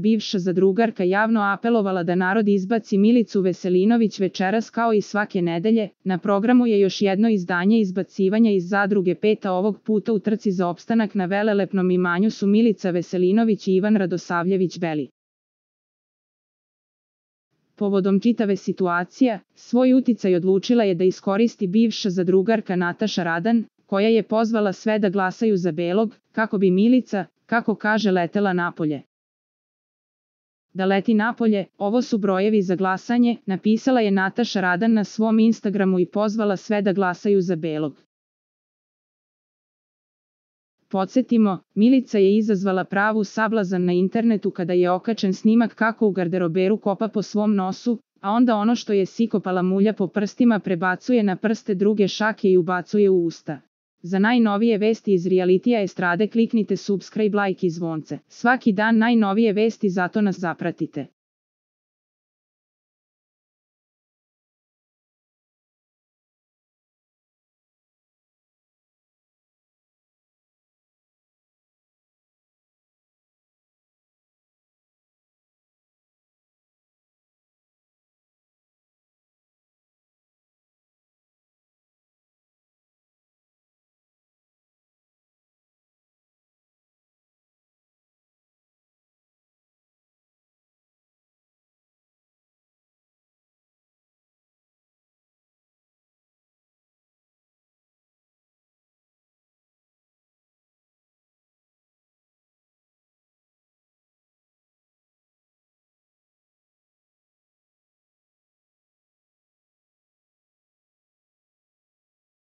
bivša zadrugarka javno apelovala da narod izbaci Milicu Veselinović večeras kao i svake nedelje. Na programu je još jedno izdanje izbacivanja iz zadruge Peta, ovog puta u trci za opstanak na velelepnom imanju su Milica Veselinović i Ivan Radosavljević Beli. Povodom čitave situacije, svoj uticaj odlučila je da iskoristi bivša zadrugarka Nataša Radan, koja je pozvala sve da glasaju za Belog, kako bi Milica, kako kaže, letela napolje. Da leti napolje, ovo su brojevi za glasanje, napisala je Nataša Radan na svom Instagramu i pozvala sve da glasaju za Belog. Podsjetimo, Milica je izazvala pravu sablazan na internetu kada je okačen snimak kako u garderoberu kopa po svom nosu, a onda ono što je sikopala mulja po prstima prebacuje na prste druge šake i ubacuje u usta. Za najnovije vesti iz realitija estrade kliknite subscribe, like i zvonce. Svaki dan najnovije vesti, zato nas zapratite.